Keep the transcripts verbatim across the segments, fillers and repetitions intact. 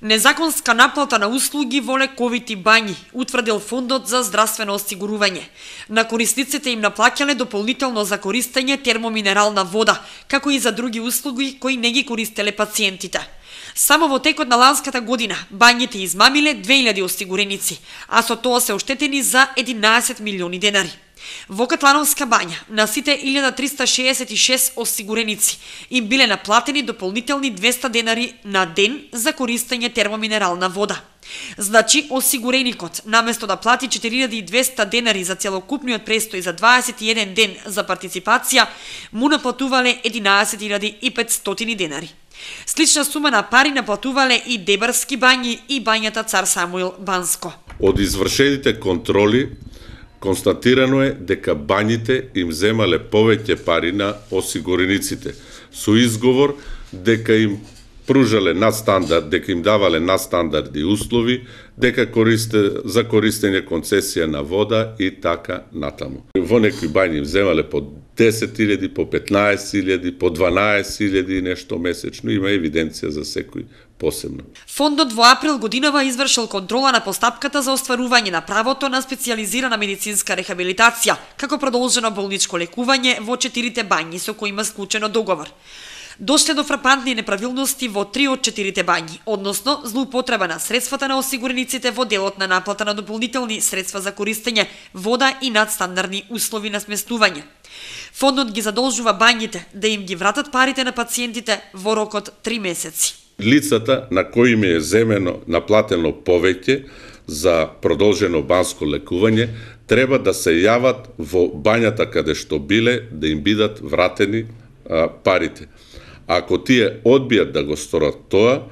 Незаконска наплата на услуги во лековити бањи, утврдил Фондот за здравствено осигурување. На корисниците им наплаќале дополнително за користење термоминерална вода, како и за други услуги кои не ги користеле пациентите. Само во текот на ланската година бањите измамиле две илјади осигуреници, а со тоа се оштетени за единаесет милиони денари. Во Катлановска бања на сите илјада триста шеесет и шест осигуреници им биле наплатени дополнителни двеста денари на ден за користење термоминерална вода. Значи, осигуреникот, наместо да плати четири илјади и двеста денари за целокупниот престој за дваесет и еден ден за партиципација, му наплатувале единаесет илјади и петстотини денари. Слична сума на пари наплатувале и Дебарски бањи и бањата Цар Самуил Банско. Од извршените контроли констатирано е дека бањите им земале повеќе пари на осигурениците, со изговор дека им пружале надстандард, дека им давале надстандардни услови, дека користе за користење концесија на вода и така натаму. Во некои бањи им земале по десет илјади, по петнаесет илјади, по дванаесет илјади и нешто месечно, има евиденција за секој посебно. Фондот во април годинава извршил контрола на постапката за остварување на правото на специјализирана медицинска рехабилитација, како продолжено болничко лекување во четирите бањи со кои има склучено договор. Дошле до фрапантни неправилности во три од четирите бањи, односно злоупотреба на средствата на осигурениците во делот на наплата на дополнителни средства за користење вода и надстандардни услови на сместување. Фондот ги задолжува бањите да им ги вратат парите на пациентите во рокот три месеци. Лицата на кои им е земено наплатено повеќе за продолжено банско лекување треба да се јават во бањата каде што биле да им бидат вратени а, парите. Ако тие одбијат да го сторат тоа,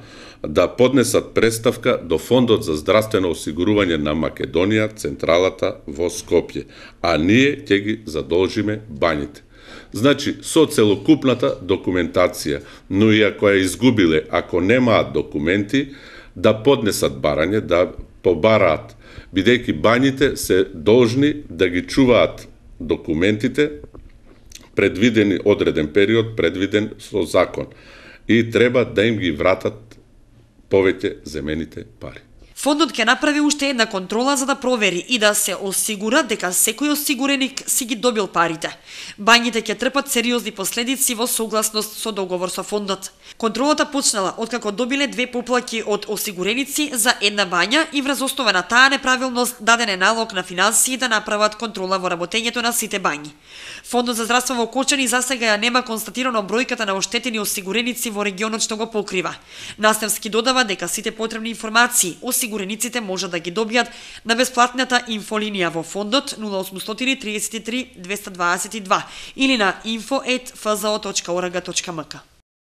да поднесат представка до Фондот за здравствено осигурување на Македонија, централата во Скопје, а ние ќе ги задолжиме бањите. Значи, со целокупната документација, но и ако ја изгубиле, ако немаат документи, да поднесат барање, да побараат, бидејќи бањите се должни да ги чуваат документите, предвидени одреден период, предвиден со закон. И треба да им ги вратат повеќе земените пари. Фондот ќе направи уште една контрола за да провери и да се осигура дека секој осигуреник си ги добил парите. Бањите ќе трпат сериозни последици во согласност со договор со фондот. Контролата почнала откако добиле две поплаки од осигуреници за една бања и врз основа на таа неправилност даден е налог на финансии да направат контрола во работењето на сите бањи. Фондот за здравство во Кочани засега ја нема констатирано бројката на оштетени осигуреници во регионот што го покрива. Наставски додава дека сите потребни информации осигурениците може да ги добијат на бесплатната инфолинија во фондот нула осумстотини триесет и три двеста дваесет и два или на инфо ет ф з о точка орг точка м к.